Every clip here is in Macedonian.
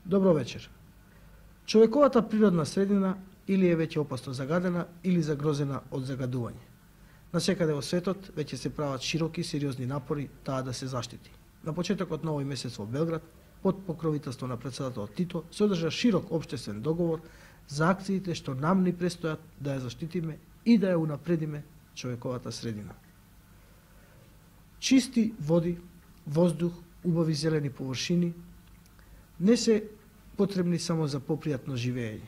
Добро вечер. Човековата природна средина или е веќе опасно загадена или загрозена од загадување. Насекаде во светот веќе се прават широки сериозни напори таа да се заштити. На почетокот на овој месец во Белград, под покровителство на претседателот Тито, се одржа широк општествен договор за акциите што нам ни престојат да ја заштитиме и да ја унапредиме човековата средина. Чисти води, воздух, убави зелени површини не се потребни само за попријатно живење.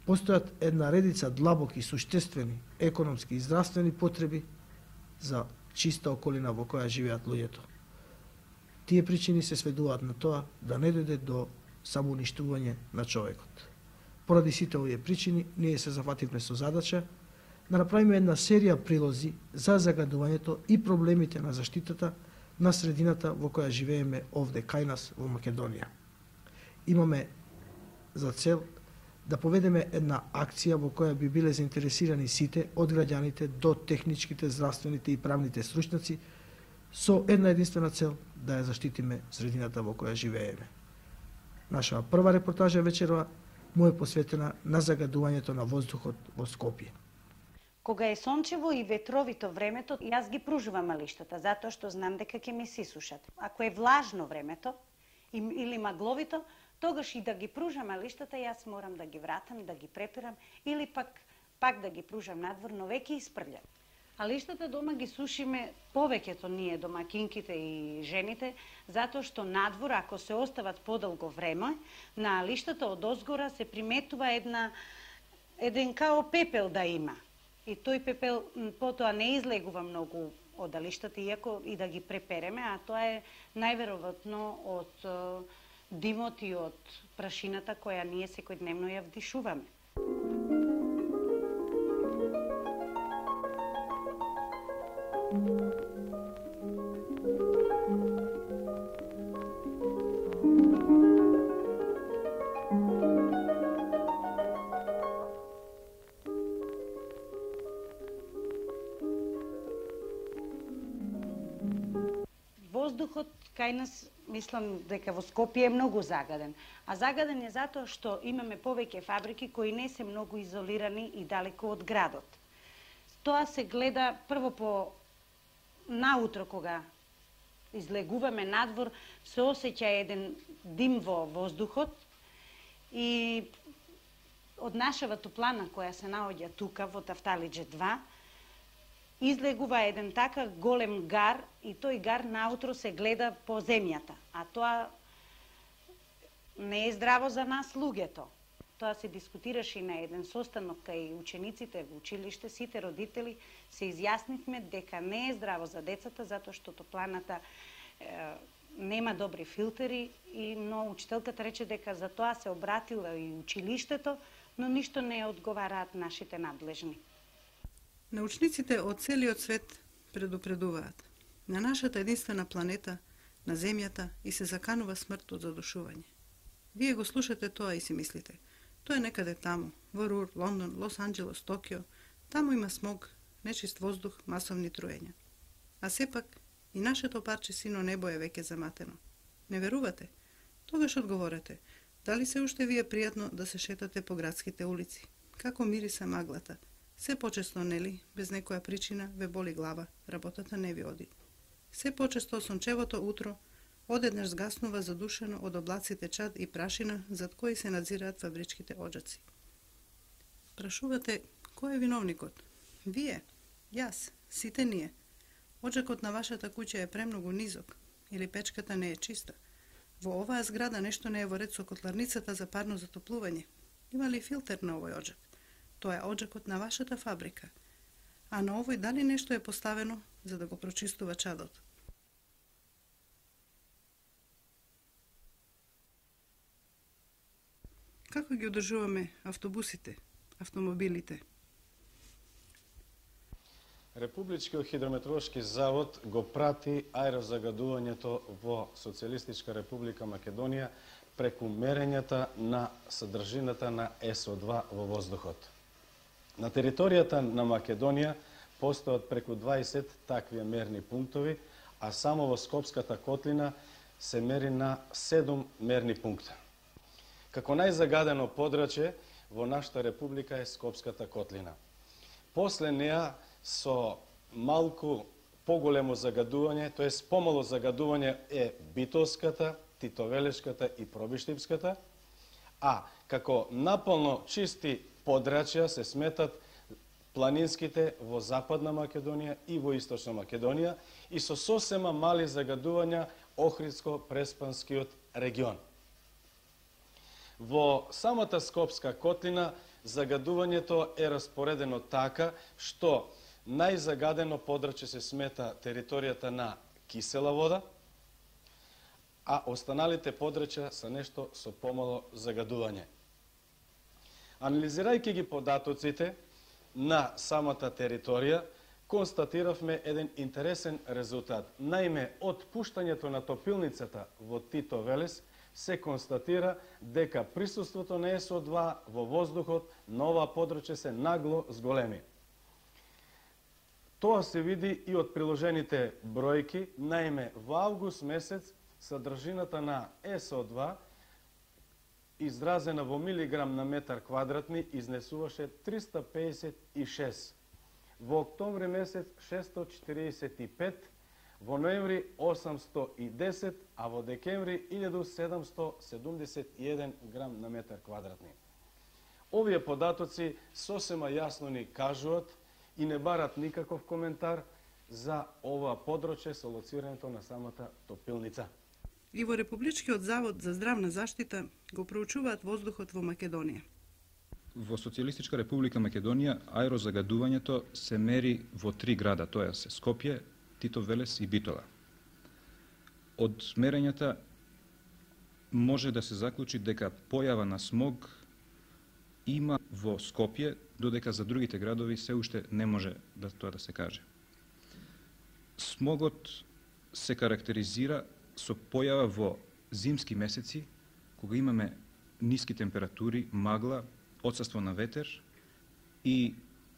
Постојат една редица длабоки, суштествени, економски и здравствени потреби за чиста околина во која живеат луѓето. Тие причини се сведуваат на тоа да не дојде до самоуништување на човекот. Поради сите овие причини, ние се зафативме со задача да направиме една серија прилози за загадувањето и проблемите на заштитата на средината во која живееме овде кај нас во Македонија. Имаме за цел да поведеме една акција во која би биле заинтересирани сите, од граѓаните до техничките, здравствените и правните стручњаци, со една единствена цел да ја заштитиме средината во која живееме. Нашава прва репортажа вечерва му е посветена на загадувањето на воздухот во Скопје. Кога е сончево и ветровито времето, јас ги пружувам малиштата, затоа што знам дека ќе ме сисушат. Ако е влажно времето или магловито, тогаш и да ги пружам малиштата, јас морам да ги вратам, да ги преперам или пак да ги пружам надвор, но веќе испрљам. А лиштата дома ги сушиме повеќето ние домакинките и жените, затоа што надвор, ако се остават подолго време, на лиштата од озгора се приметува еден као пепел да има. И тој пепел потоа не излегува многу од лиштата, иако и да ги препереме, а тоа е најверојатно од димот и од прашината која ние секојдневно ја вдишуваме. Воздухот кај нас, мислам дека во Скопје е многу загаден. А загаден е затоа што имаме повеќе фабрики кои не се многу изолирани и далеко од градот. Тоа се гледа прво по наутро кога излегуваме надвор, се осеќа еден дим во воздухот и од нашава топлана која се наоѓа тука во Тафталиџе 2, излегува еден така голем гар и тој гар наутро се гледа по земјата, а тоа не е здраво за нас луѓето. Тоа се дискутираше и на еден состанок кај учениците во училиште, сите родители се изјаснивме дека не е здраво за децата затоа што топланата нема добри филтери но учителката рече дека за тоа се обратила и училиштето, но ништо не одговараат нашите надлежни. Научниците од целиот свет предупредуваат. На нашата единствена планета, на Земјата, и се заканува смрт од задушување. Вие го слушате тоа и си мислите. Тоа е некаде таму, во Рур, Лондон, Лос Анџелес, Токио. Таму има смог, нечист воздух, масовни труења. А сепак, и нашето парче сино небо е веќе заматено. Не верувате? Тогаш одговорете. Дали се уште ви е пријатно да се шетате по градските улици? Како мириса маглата? Се почесто, нели, без некоја причина ве боли глава, работата не ви оди. Се почесто сончевото утро одеднаш згаснува задушено од облаците чад и прашина зад кои се надзираат фабричките оџаци. Прашувате, кој е виновникот? Вие, јас, сите ние. Оџакот на вашата куќа е премногу низок или печката не е чиста. Во оваа зграда нешто не е во ред со котларницата за парно затоплување. Има ли филтер на овој оџак? Тоа е оџакот на вашата фабрика. А на овој дали нешто е поставено за да го прочистува чадот? Како ги одржуваме автобусите, автомобилите? Републичкиот хидрометеоролошки завод го прати аерозагадувањето во Социјалистичка република Македонија преку мерењата на содржината на СО2 во воздухот. На територијата на Македонија постојат преку 20 такви мерни пунктови, а само во Скопската котлина се мери на 7 мерни пункта. Како најзагадено подрачје во нашата република е Скопската котлина. После неа со малку поголемо загадување, тоест помало загадување е Битолската, Титовелешката и Пробиштипската, а како наполно чисти подрачја се сметат планинските во Западна Македонија и во Источна Македонија и со сосема мали загадувања Охридско-Преспанскиот регион. Во самата Скопска котлина загадувањето е распоредено така што најзагадено подрачје се смета територијата на кисела вода, а останалите подрачја се нешто со помало загадување. Анализирајќи ги податоците на самата територија, констатиравме еден интересен резултат. Наиме, од пуштањето на топилницата во Тито Велес се констатира дека присуството на СО2 во воздухот на ова подрачје се нагло зголеми. Тоа се види и од приложените бројки, наиме во август месец содржината на СО2 изразена во милиграм на метар квадратни изнесуваше 356, во октомври месец 645, во ноември 810, а во декември 1771 грам на метар квадратни. Овие податоци сосема јасно ни кажуваат и не барат никаков коментар за ова подрачје со лоцирањето на самата топилница. И во Републичкиот завод за здравна заштита го проучуваат воздухот во Македонија. Во Социјалистичка република Македонија аерозагадувањето се мери во 3 града, тоа се Скопје, Тито Велес и Битола. Од мерењата може да се заклучи дека појава на смог има во Скопје, додека за другите градови се уште не може тоа да се каже. Смогот се карактеризира со појава во зимски месеци, кога имаме ниски температури, магла, отсуство на ветер и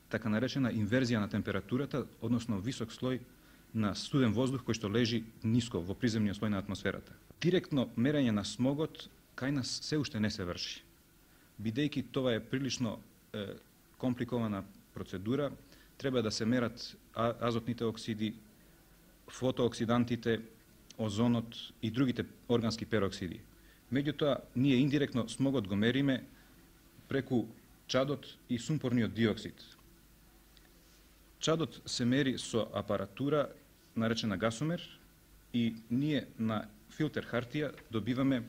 така наречена инверзија на температурата, односно висок слој на студен воздух кој што лежи ниско во приземниот слој на атмосферата. Директно мерење на смогот кај нас се уште не се врши. Бидејќи тоа е прилично компликована процедура, треба да се мерат азотните оксиди, фотооксидантите, озонот и другите органски пероксиди. Меѓутоа, ние индиректно смогот го мериме преку чадот и сумпорниот диоксид. Чадот се мери со апаратура наречена гасомер и ние на филтер хартија добиваме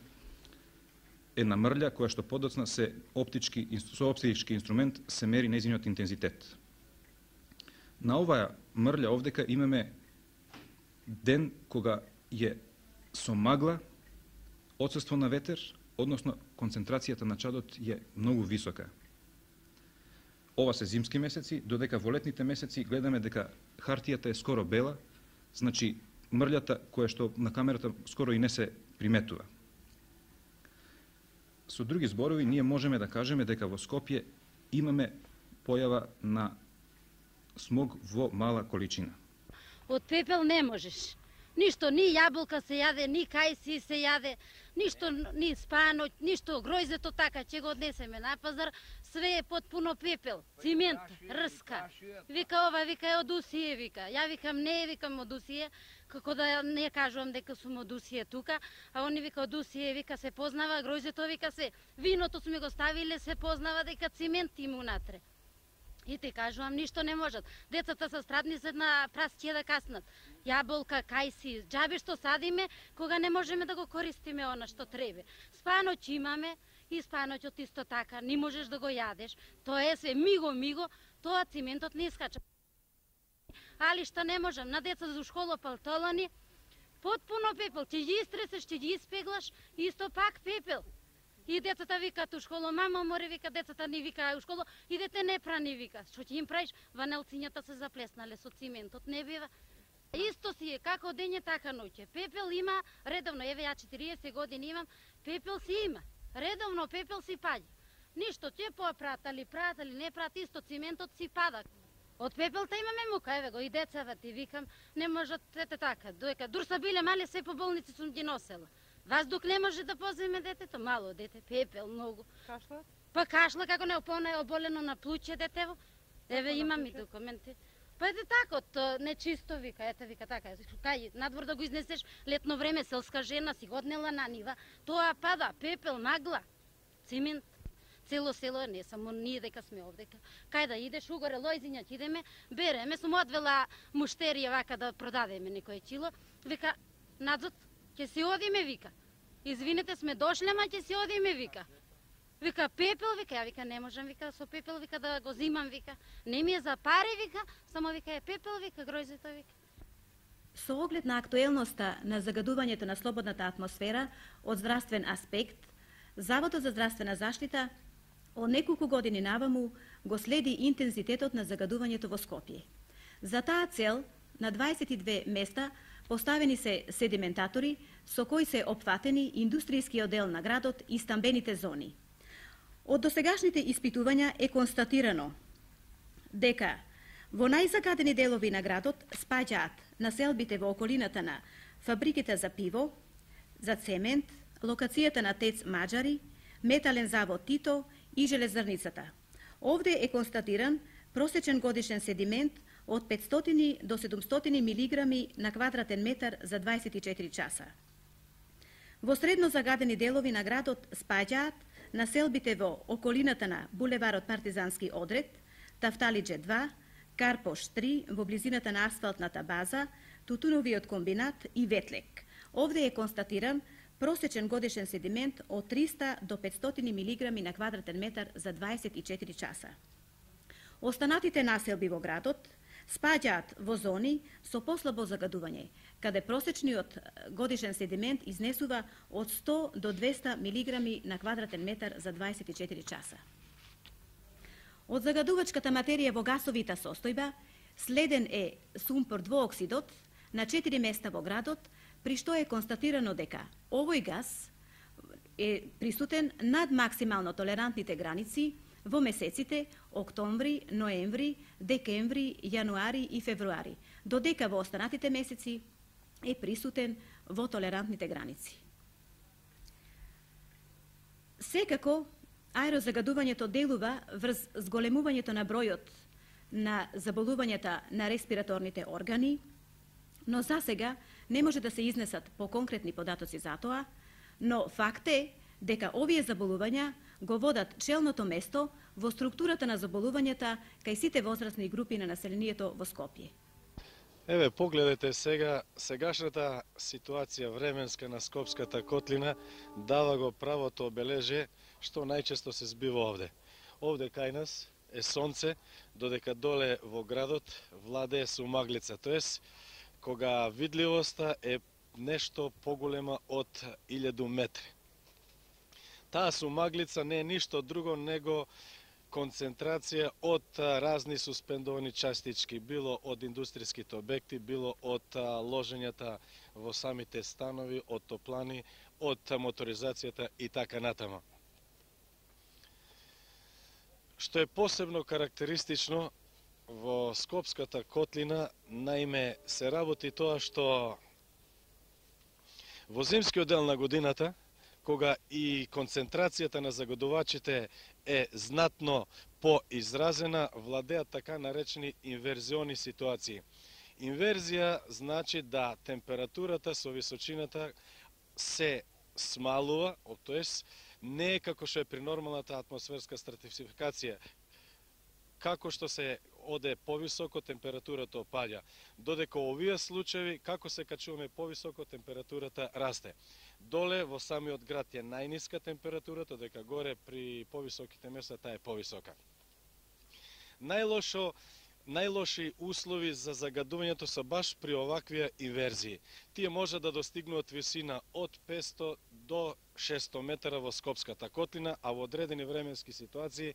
една мрља која што подоцна со оптички инструмент се мери нејзиниот интензитет. На оваа мрља овдека имаме ден кога е со магла, отсуство на ветер, односно концентрацијата на чадот е многу висока. Ова се зимски месеци, додека во летните месеци гледаме дека хартијата е скоро бела, значи мрљата која што на камерата скоро и не се приметува. Со други зборови, ние можеме да кажеме дека во Скопје имаме појава на смог во мала количина. Од пепел не можеш. Ништо, ни јаболка се јаде, ни кајси се јаде, ништо, ни спаноќ, ништо, гројзето така, ќе го однесеме на пазар, све е потпуно пепел, цимент, рска. Вика ова, вика е од Усие, вика. Ја викам не, викам од Усие, како да не кажувам дека сум од Усие тука, а они вика од Усие, вика се познава, гројзето вика се, виното сме го ставиле, се познава дека цимент има унатре. И ти кажувам, ништо не можат. Децата се страдни се на прасче да каснат. Јаболка, кајси, џабе што садиме, кога не можеме да го користиме она што треба. Спаноќ имаме и спаноќот исто така, не можеш да го јадеш. Тоа е све миго, тоа циментот не искача. Али што не можам, на деца за школа палтолани, потпуно пепел, ќе ги истресеш, ќе ги испеглаш, исто пак пепел. И децата викаат у школу, мама море, вика, децата ни вика у школу, идете не прани, вика. Што ќе им правиш? Ванелцињата се заплеснале со циментот, не бива. Исто си е, како дење, така ноќе. Пепел има редовно, еве ја 40 години имам, пепел си има. Редовно пепел си паѓа. Ништо, ќе пратали, не прат, исто циментот си пада. Од пепелта имаме мука, еве го, и децата ти викам, не можат, ете така, доека дур са биле мали, се по болници сум ги носела. Ваздух не може да поземе детето, мало дете, пепел многу. Кашла? Па кашла како не оболено на плуќе детево. Еве имам и документи. Па ете тако, то нечисто вика, ете вика така, кај надвор да го изнесеш летно време, селска жена си годнела на нива, тоа пада, пепел, магла, цимент. Цело село, не само ние дека сме овдека. Кај да идеш, угоре Лојзиња идеме, береме, сум одвела муштерија вака да продадеме некој чило, вика, надзот, ќе си одиме, вика. Извинете, сме дошле, ма ќе си одиме, вика. Вика, пепел, вика, ја вика, не можам, вика, со пепел, вика, да го зимам, вика. Не ми е за пари, вика, само вика, е пепел, вика, гројзето, вика. Со оглед на актуелноста на загадувањето на слободната атмосфера од здравствен аспект, Заводот за здравствена заштита од неколку години наваму го следи интензитетот на загадувањето во Скопје. За таа цел, на 22 места поставени се седиментатори со кои се опфатени индустријскиот дел на градот и стамбените зони. Од досегашните испитувања е констатирано дека во најзагадени делови на градот спаѓаат населбите во околината на фабриките за пиво, за цемент, локацијата на ТЕЦ Маџари, метален завод Тито и железарницата. Овде е констатиран просечен годишен седимент од 500 до 700 милиграми на квадратен метар за 24 часа. Во средно загадени делови на градот спаѓаат населбите во околината на булеварот Партизански одред, Тафталиџе 2, Карпош 3 во близината на асфалтната база, Тутуновиот комбинат и Ветлек. Овде е констатиран просечен годишен седимент од 300 до 500 милиграми на квадратен метар за 24 часа. Останатите населби во градот спаѓаат во зони со послабо загадување, каде просечниот годишен седимент изнесува од 100 до 200 милиграми на квадратен метар за 24 часа. Од загадувачката материја во гасовита состојба следен е сумпор двооксидот на 4 места во градот, при што е констатирано дека овој гас е присутен над максимално толерантните граници во месеците октомври, ноември, декември, јануари и февруари, додека во останатите месеци е присутен во толерантните граници. Секако, аерозагадувањето делува врз зголемувањето на бројот на заболувањата на респираторните органи, но за сега не може да се изнесат по конкретни податоци за тоа, но факт е дека овие заболувања го водат челното место во структурата на заболувањата кај сите возрастни групи на населението во Скопје. Еве, погледете сега, сегашната ситуација временска на Скопската котлина дава го правото обележе што најчесто се збива овде. Овде кај нас е сонце, додека доле во градот владее сумаглица, тоест кога видливоста е нешто поголема од 1000 метри. Таа сумаглица не е ништо друго него концентрација од разни суспендовани частички, било од индустријските обекти, било од ложењата во самите станови, од топлани, од моторизацијата и така натаму. Што е посебно карактеристично во Скопската котлина, наиме се работи тоа што во зимскиот дел на годината, кога и концентрацијата на загадувачите е знатно поизразена, владеат така наречени инверзиони ситуации. Инверзија значи да температурата со височината се смалува, тоест не е како што е при нормалната атмосферска стратификација, како што се оде повисоко, температурата опаѓа. Додека овие случаи, како се качуваме повисоко, температурата расте. Доле во самиот град е најниска температурата, додека горе при повисоките места таа е повисока. Најлоши услови за загадувањето се баш при оваквија инверзии. Тие може да достигнуваат висина од 500 до 600 метра во Скопската котлина, а во одредени временски ситуации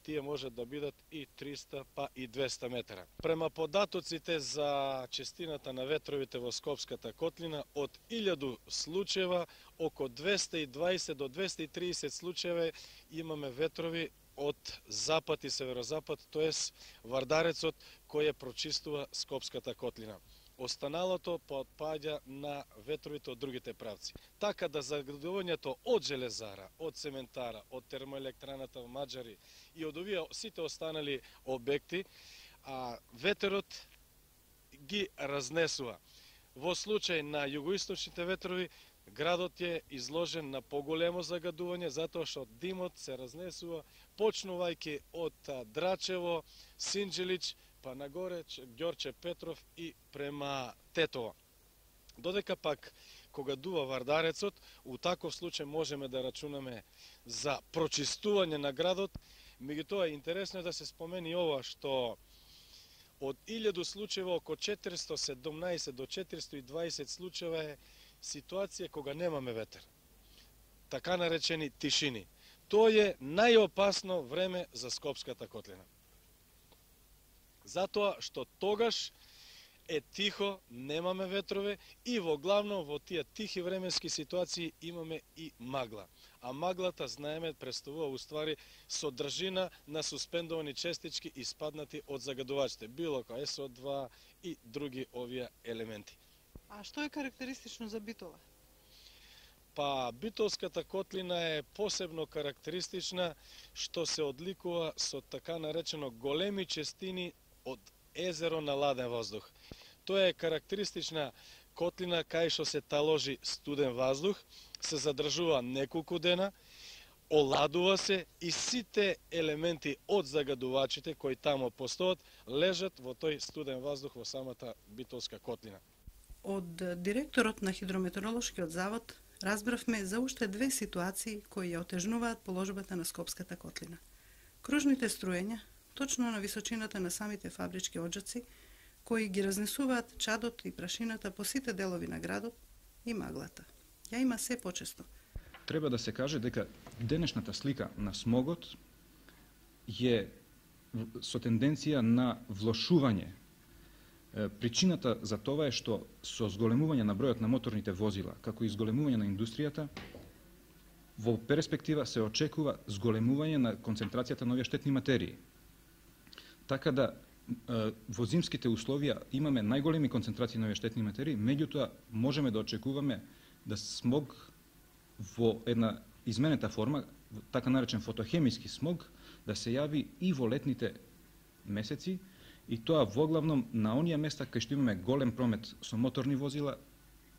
тие може да бидат и 300 па и 200 метра. Према податоците за честината на ветровите во Скопската котлина, од 1000 случаева, око 220 до 230 случаева имаме ветрови од запад и северозапад, тоест Вардарецот, кој ја прочистува Скопската котлина. останалото потпаѓа на ветровите од другите правци. Така да загадувањето од железара, од цементара, од термоелектраната во Маđари и од овие сите останали објекти, ветерот ги разнесува. Во случај на југоисточните ветрови, градот е изложен на поголемо загадување, затоа што димот се разнесува, почнувајќи од Драчево, Синџелич, па нагоре Ѓорче Петров и према Тетово. Додека пак, кога дува Вардарецот, у таков случај можеме да рачунаме за прочистување на градот. Меѓутоа, интересно е да се спомени ова, што од 1000 случаева, око 417 до 420 случаева е ситуација кога немаме ветер. Така наречени тишини. Тоа е најопасно време за Скопската котлина. Затоа што тогаш е тихо, немаме ветрове и во главно во тие тихи временски ситуации имаме и магла. А маглата, знаеме, представува уствари содржина на суспендовани честички испаднати од загадувачите, било како СО2 и други овие елементи. А што е карактеристично за Битола? Па, Битолската котлина е посебно карактеристична што се одликува со така наречено големи честини од езеро на ладен воздух. Тоа е карактеристична котлина кај што се таложи студен воздух, се задржува неколку дена, оладува се и сите елементи од загадувачите кои тамо постојат лежат во тој студен воздух во самата Битолска котлина. Од директорот на Хидрометеоролошкиот завод разбравме за уште две ситуации кои ја отежнуваат положбата на Скопската котлина. Кружните струења, точно на височината на самите фабрички оджаци, кои ги разнесуваат чадот и прашината по сите делови на градот, и маглата. Ја има се почесто. Треба да се каже дека денешната слика на смогот е со тенденција на влошување. Причината за тоа е што со зголемување на бројот на моторните возила, како и зголемување на индустријата, во перспектива се очекува зголемување на концентрацијата на овие штетни материи. Така да во зимските условија имаме најголеми концентрации на овие штетни материи, меѓутоа можеме да очекуваме да смог во една изменета форма, така наречен фотохемиски смог, да се јави и во летните месеци, и тоа воглавном на оние места кај што имаме голем промет со моторни возила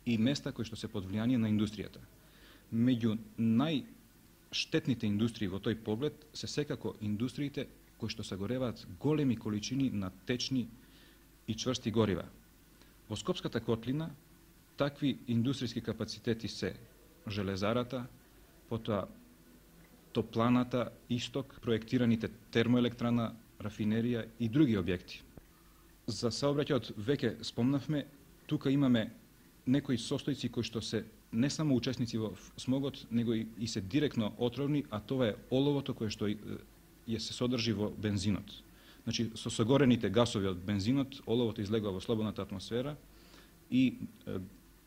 и места кои што се под влијание на индустријата. Меѓу најштетните индустрии во тој поглед се секако индустриите кои што сагореваат големи количини на течни и чврсти горива. Во Скопската котлина такви индустријски капацитети се железарата, потоа топланата Исток, проектираните термоелектрана, рафинерија и други објекти. За саобраќајот веќе спомнавме, тука имаме некои состојци кои што се не само учесници во смогот, него и се директно отровни, а тоа е оловото кое што се содржи во бензинот. Значи, со согорените гасови од бензинот, оловото излегува во слободната атмосфера и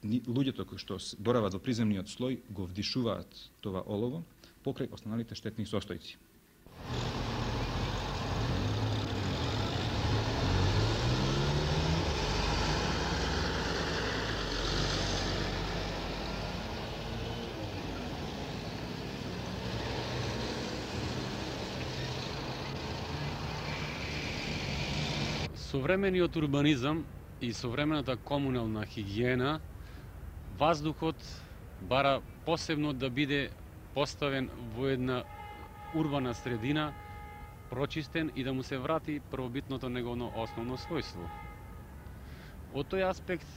луѓето кои што борават во приземниот слој го вдишуваат това олово покрај останалите штетни состојци. Современиот урбанизам и современата комунална хигиена, воздухот бара посебно да биде поставен во една урбана средина, прочистен и да му се врати првобитното неговно основно својство. Од тој аспект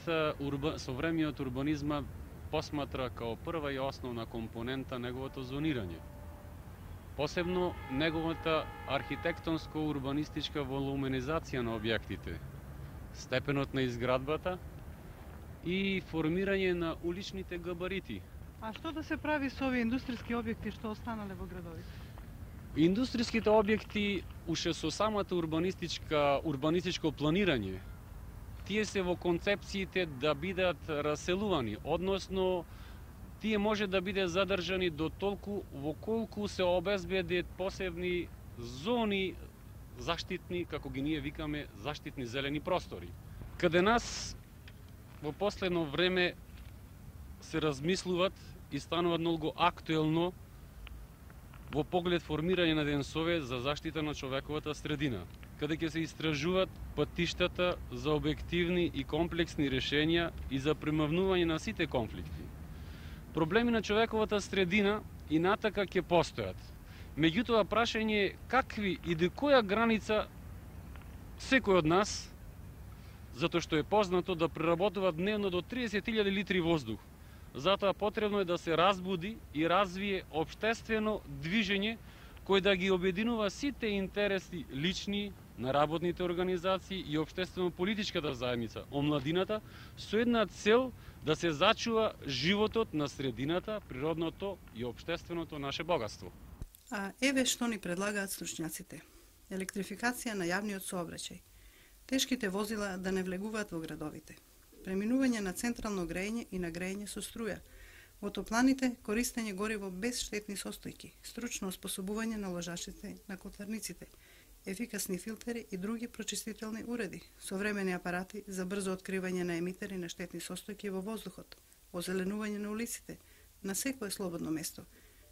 современиот урбанизма посматра као прва и основна компонента неговото зонирање. Посебно неговата архитектонско-урбанистичка волуменизација на објектите, степенот на изградбата и формирање на уличните габарити. А што да се прави со овие индустријски објекти што останале во градовите? Индустријските објекти уште со самата урбанистичко планирање, тие се во концепциите да бидат раселувани, односно тие може да биде задржани до толку во колку се обезбедат посебни зони заштитни, како ги ние викаме, заштитни зелени простори. Каде нас во последно време се размислуваат и стануваат многу актуелно во поглед формирање на еден совет за заштита на човековата средина, каде ќе се истражуваат патиштата за објективни и комплексни решенја и за премавнување на сите конфликти. Проблеми на човековата средина и натака ќе постојат. Меѓутоа, прашање е какви и до која граница секој од нас, затоа што е познато да преработува дневно до 30.000 литри воздух. Затоа потребно е да се разбуди и развие општествено движење кој да ги обединува сите интереси лични на работните организации и општествено-политичката заедница, омладината, со една цел да се зачува животот на средината, природното и општественото наше богатство. А еве што ни предлагаат стручњаците. Електрификација на јавниот сообраќај. Тешките возила да не влегуваат во градовите. Преминување на централно грејење и на грејење со струја. Во топланите користење гориво без штетни состојки, стручно оспособување на ложачите на котларниците, ефикасни филтери и други прочистителни уреди, современи апарати за брзо откривање на емитери на штетни состојки во воздухот, озеленување на улиците, на секое слободно место,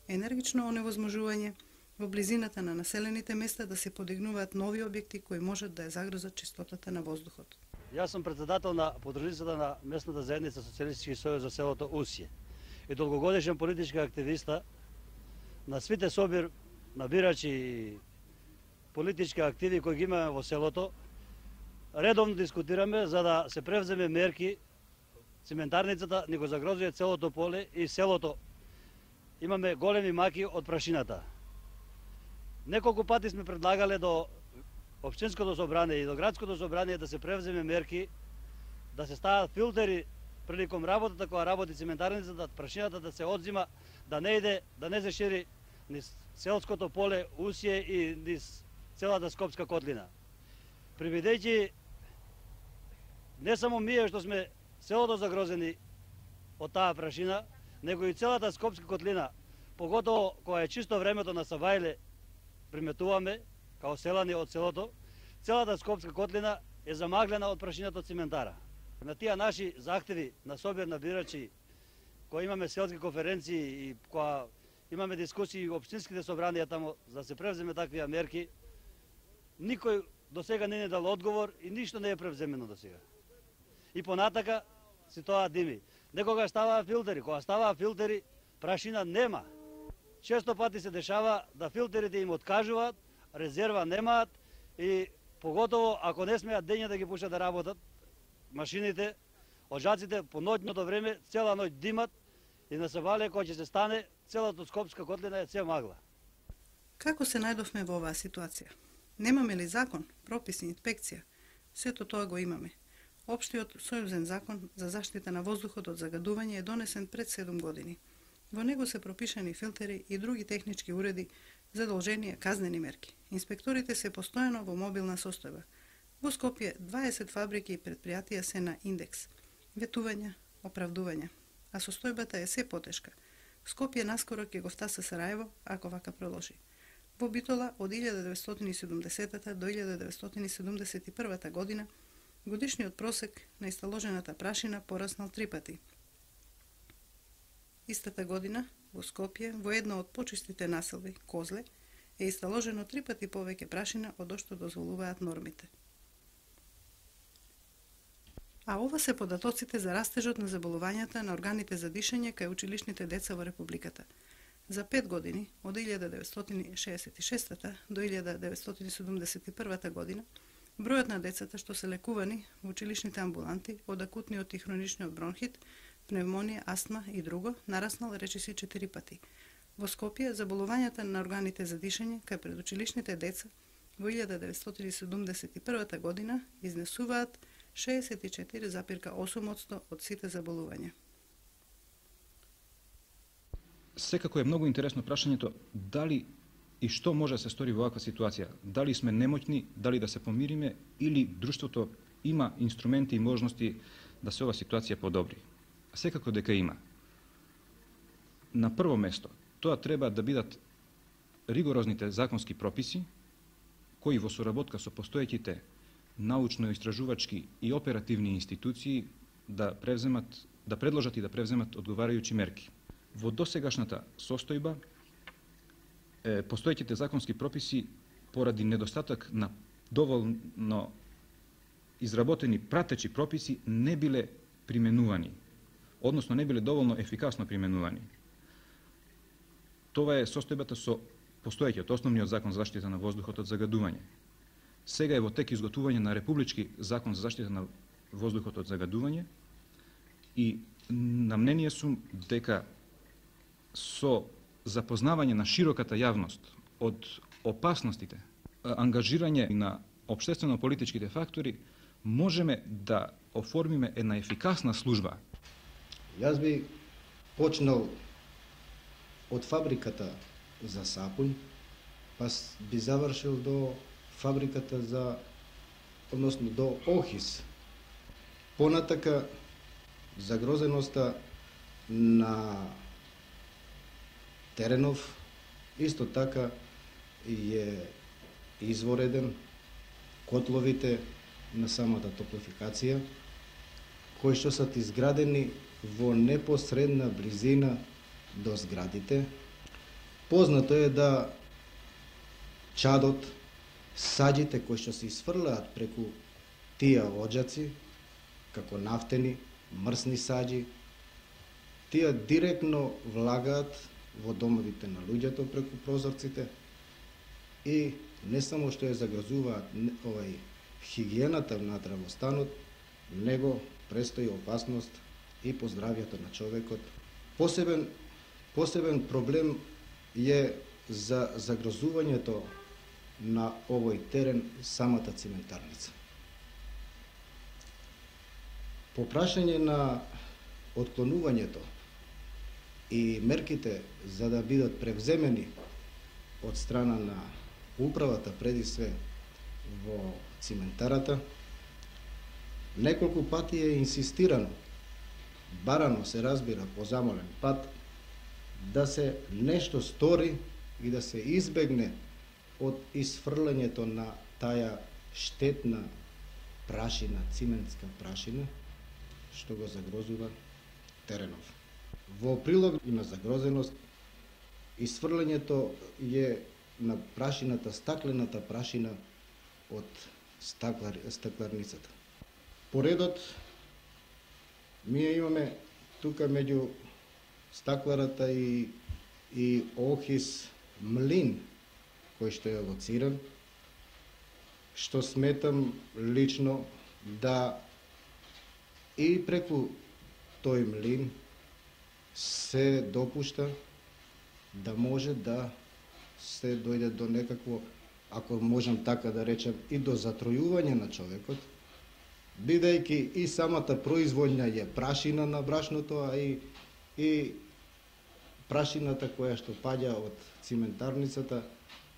енергично оневозможување во близината на населените места да се подигнуваат нови објекти кои можат да ја загрозат чистотата на воздухот. Јас сум председател на подружницата на местната заедница Социјалистички сојуз за селото Усје и долгогодишен политички активиста на свите собир на бирачи и политички активи кои ги имаме во селото. Редовно дискутираме за да се превземе мерки. Циментарницата ни го загрозува целото поле и селото. Имаме големи маки од прашината. Неколку пати сме предлагале до Општинското собрание и до Градското собрание да се превземе мерки, да се стават филтери приликом работата која работи циментарницата, прашината да се одзима, да не иде, да не се шири низ селското поле Усје и низ целата Скопска котлина. Прибедејќи не само ние што сме селото загрозени од таа прашина, него и целата Скопска котлина, поготово која е чисто времето на Савајле, приметуваме као селани од селото, целата Скопска котлина е замаглена од прашината од циментара. На тие наши захтеви на собир на бирачи, кои имаме селски конференции и која имаме дискусии во општинските собранија тамо за да се превземе такви мерки, никој до сега не дал одговор и ништо не е превземено до сега. И понатака си тоа дими. Некогаш ставаа филтери, кога ставаа филтери, прашина нема. Често пати се дешава да филтерите им откажуваат, резерва немаат и поготово ако не смеат дења да ги пушат да работат, машините, оджаците по ноќното време цела ноќ димат и на Савајле кога ќе се стане, целата Скопска котлина е се магла. Како се најдовме во оваа ситуација? Немаме ли закон, прописи, инспекција? Сето тоа го имаме. Општиот сојузен закон за заштита на воздухот од загадување е донесен пред 7 години. Во него се пропишани филтери и други технички уреди, задолжени казнени мерки. Инспекторите се постојано во мобилна состојба. Во Скопје 20 фабрики и предпријатија се на индекс. Ветувања, оправдувања. А состојбата е се потешка. Скопје наскоро ќе го втаса Сарајево, ако вака продолжи. Во Битола од 1970 до 1971 година годишниот просек на исталожената прашина пораснал 3 пати. Истата година во Скопје, во една од почистите населби, Козле, е исталожено 3 пати повеќе прашина од што дозволуваат нормите. А ова се податоците за растежот на заболувањата на органите за дишење кај училишните деца во Републиката. За 5 години, од 1966 до 1971 година, бројот на децата што се лекувани во училишните амбуланти од акутниот и хроничниот бронхит, пневмонија, астма и друго, нараснал речиси 4 пати. Во Скопје, заболувањата на органите за дишење кај предучилишните деца во 1971 година изнесуваат 64,8% од сите заболувања. Секако е многу интересно прашањето дали и што може да се стори во оваква ситуација. Дали сме немоќни, дали да се помириме или друштвото има инструменти и можности да се ова ситуација подобри. Секако дека има. На прво место, тоа треба да бидат ригорозните законски прописи кои во соработка со постоеќите научно-истражувачки и оперативни институции да предложат и да превземат одговарајучи мерки. Во досегашната состојба, постоеќите законски прописи поради недостаток на доволно изработени пратечи прописи не биле применувани, односно не биле доволно ефикасно применувани. Това е состојбата со постоеќиот основниот закон за заштита на воздухот од загадување. Сега е во тек изготвување на републички закон за заштита на воздухот од загадување и на мнение сум дека со запознавање на широката јавност од опасностите, ангажирање на општествено-политичките фактори, можеме да оформиме една ефикасна служба. Јас би почнал од фабриката за сапун, па би завршил до фабриката односно до ОХИС. Понатака, загрозеноста на теренов исто така е извореден, котловите на самата топлофикација, кои што се изградени во непосредна близина до зградите. Познато е да чадот, саđите кои што се изфрлаат преку тие оджаци, како нафтени, мрсни саđи, тие директно влагаат во домовите на луѓето преку прозорците и не само што ја загрозуваат хигиената внатре во станот, него престои опасност и по здравјето на човекот. Посебен проблем е за загрозувањето на овој терен самата циментарница. По прашање на отклонувањето и мерките за да бидат превземени од страна на управата преди све во циментарата, неколку пати е инсистирано, барано се разбира по замолен пат, да се нешто стори и да се избегне од изфрлањето на таа штетна прашина, циментска прашина, што го загрозува теренов. Во прилог и на загрозеност, изфрлањето е на прашината, стаклената прашина од стакларницата. Поредот, ние имаме тука меѓу стакларата и ОХИС млин, кој што е лоциран, што сметам лично да и преку тој млин се допушта да може да се дојде до некакво, ако можам така да речем, и до затројување на човекот, бидејќи и самата производња е прашина на брашното, а и прашината која што паѓа од циментарницата,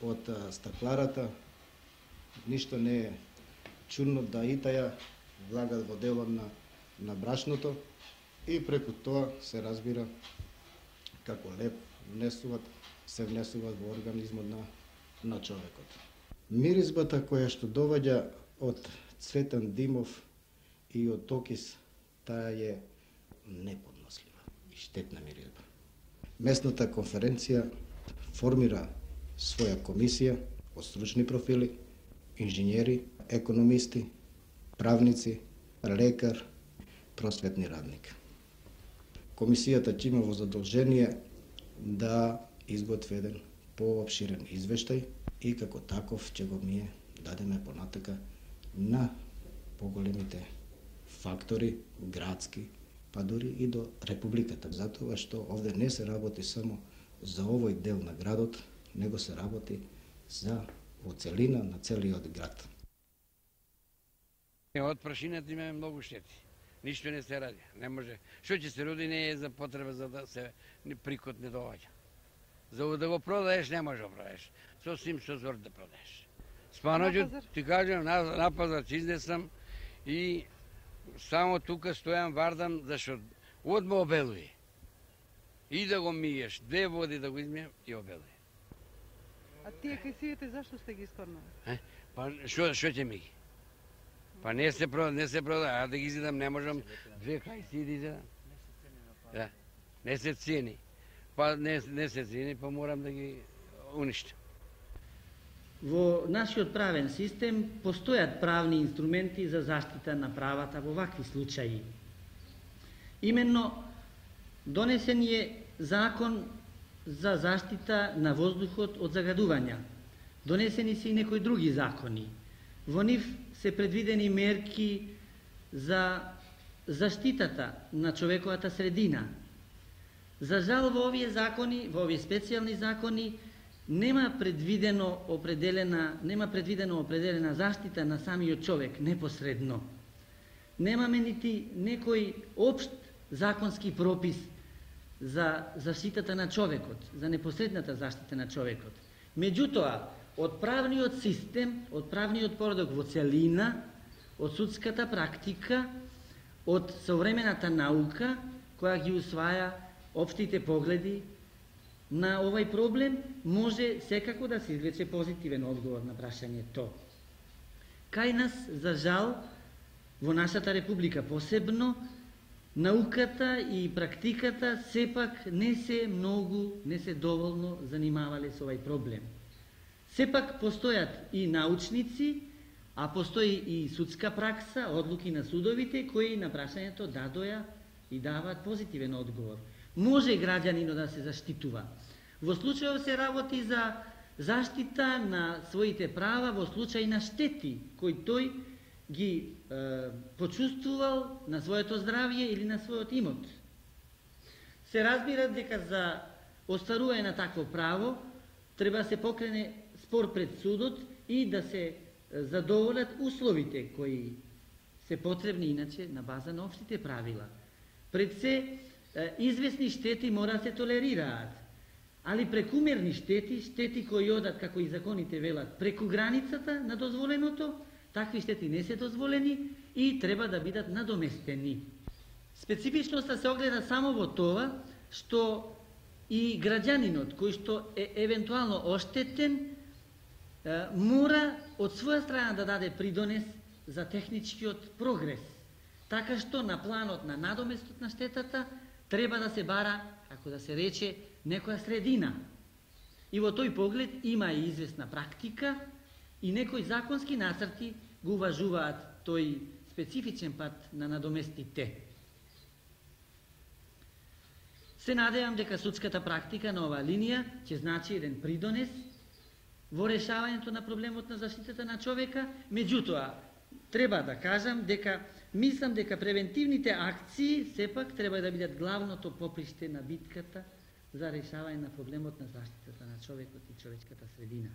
од стакларата, ништо не е чудно да и таја влагат во делот на брашното и преку тоа се разбира како леп се внесуват во организмот на човекот. Миризбата која што доаѓа од Цветан Димов и од ОХИС, таа е неподнослива и штетна миризба. Местната конференција формира своја комисија од стручни профили, инженери, економисти, правници, лекар, просветни радник. Комисијата ќе има во задолжение да изготви еден поопширен извештај и како таков ќе го ние дадеме понатака на поголемите фактори, градски, па дури и до Републиката. Затоа што овде не се работи само за овој дел на градот, него се работи за во целина на целиот град. Од прашината имаме многу штети. Ништо не се ради. Не може. Што ќе се роди не е за потреба за да се прикот не доаѓа. За да го продаеш не може да продаеш. Сосим со зор да продаеш. Спаноќот ти кажам на пазар ќе изнесам и само тука стојам вардан зашто одма обелуи. И да го миеш, 2 води да го измием и обелуи. А тие кајсиите зашто сте ги искорнали? Па што ќе ми ги? Па не се прода, да ги изидам, не можам 2 кајси да изидам. Да, не се цени. Па не се цени, па морам да ги уништам. Во нашиот правен систем постојат правни инструменти за заштита на правата во вакви случаи. Именно донесен е закон за заштита на воздухот од загадувања. Донесени се и некои други закони. Во нив се предвидени мерки за заштитата на човековата средина. За жал во овие закони, во овие специјални закони, нема предвидено определена заштита на самиот човек непосредно. Немаме нити некој општ законски пропис за заштитата на човекот, за непосредната заштита на човекот. Меѓутоа, од правниот систем, од правниот поредок во целина, од судската практика, од современата наука, која ги усваја општите погледи на овај проблем, може секако да се извлече позитивен одговор на прашањето. Кај нас, за жал, во нашата република посебно, науката и практиката сепак не се доволно занимавале со овај проблем. Сепак постојат и научници, а постои и судска пракса, одлуки на судовите, кои на прашањето дадоја и даваат позитивен одговор. Може граѓанинот да се заштитува. Во случајов се работи за заштита на своите права во случај на штети, кои тој ги почувствувал на своето здравје или на својот имот. Се разбира дека за остварување на такво право треба да се покрене спор пред судот и да се задоволат условите кои се потребни иначе на база на општите правила. Пред се известни штети мора да се толерираат, али прекумерни штети кои одат, како и законите велат, преку границата на дозволеното, такви штети не се дозволени и треба да бидат надоместени. Специфичноста се огледа само во тоа што и граѓанинот кој што е евентуално оштетен мора од своја страна да даде придонес за техничкиот прогрес, така што на планот на надоместот на штетата треба да се бара, како да се рече, некоја средина. И во тој поглед има и известна практика и некои законски нацрти го уважуваат тој специфичен пат на надоместите. Се надевам дека судската практика на оваа линија ќе значи еден придонес во решавањето на проблемот на заштитата на човека. Меѓутоа, треба да кажам дека мислам дека превентивните акции сепак треба да бидат главното поприште на битката за решавање на проблемот на заштитата на човекот и човечката средина.